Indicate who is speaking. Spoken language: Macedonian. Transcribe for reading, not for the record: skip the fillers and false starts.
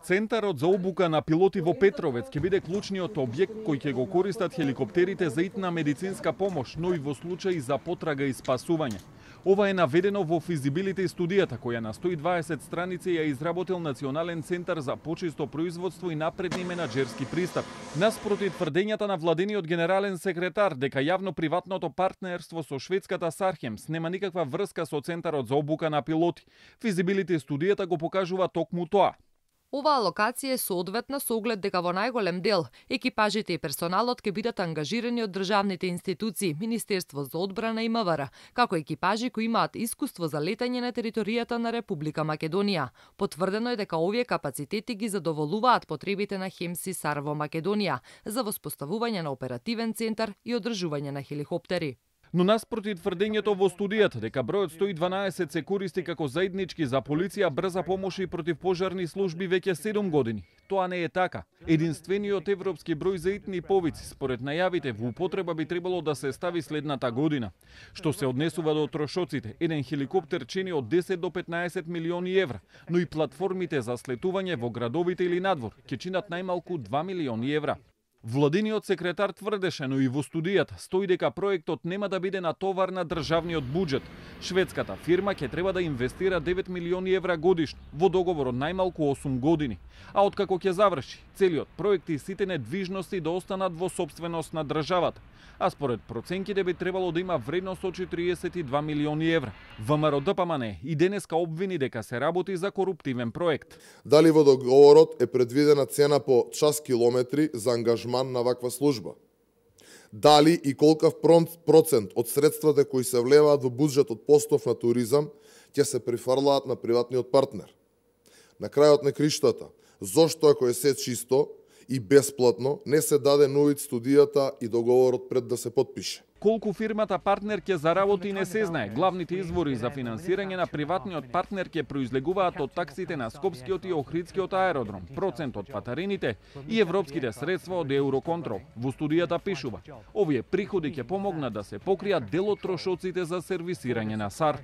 Speaker 1: Центарот за обука на пилоти во Петровец ќе биде клучниот објект кој ќе го користат хеликоптерите за итна медицинска помош, но и во случаи за потрага и спасување. Ова е наведено во физибилити студијата која на 120 страници ја изработил Национален центар за почисто производство и напредни менаџерски пристап. Наспроти тврдењата на владениот генерален секретар дека јавно-приватното партнерство со шведската Сархемс нема никаква врска со Центарот за обука на пилоти, физибилити студијата го покажува токму тоа.
Speaker 2: Оваа локација е соодветна со оглед дека во најголем дел екипажите и персоналот ќе бидат ангажирани од државните институции, Министерство за одбрана и МВР, како екипажи кои имаат искуство за летање на територијата на Република Македонија. Потврдено е дека овие капацитети ги задоволуваат потребите на ХЕМС САР во Македонија за воспоставување на оперативен центар и одржување на хеликоптери.
Speaker 1: Но наспроти тврдењето во студијата дека бројот 112 се користи како заеднички за полиција, брза помош и противпожарни служби веќе 7 години. Тоа не е така. Единствениот европски број за итни повици, според најавите, во употреба би требало да се стави следната година. Што се однесува до трошоците, еден хеликоптер чини од 10 до 15 милиони евра, но и платформите за слетување во градовите или надвор ќе чинат најмалку 2 милиони евра. Владениот секретар тврдеше, но и во студијата стои дека проектот нема да биде натовар на државниот буџет. Шведската фирма ќе треба да инвестира 9 милиони евра годишно во договор од најмалку 8 години. А откако ќе заврши, целиот проект и сите недвижности да останат во сопственост на државата. А според проценките би требало да има вредност од 42 милиони евра. ВМРО ДПМН и денеска обвини дека се работи за коруптивен проект.
Speaker 3: Дали во договорот е предвидена цена по час километри за ангажман на ваква служба? Дали и колкав процент од средствата кои се влеваат во буџетот постов на туризам ќе се прифрлаат на приватниот партнер? На крајот на криштата, зошто ако е се чисто и бесплатно, не се даде на увид студијата и договорот пред да се потпише?
Speaker 1: Колку фирмата партнер ќе заработи не се знае. Главните извори за финансирање на приватниот партнер ќе произлегуваат од таксите на Скопскиот и Охридскиот аеродром, процент од патарините и европските средства од Евроконтрол. Во студијата пишува: овие приходи ќе помогнат да се покријат дел од трошоците за сервисирање на САР.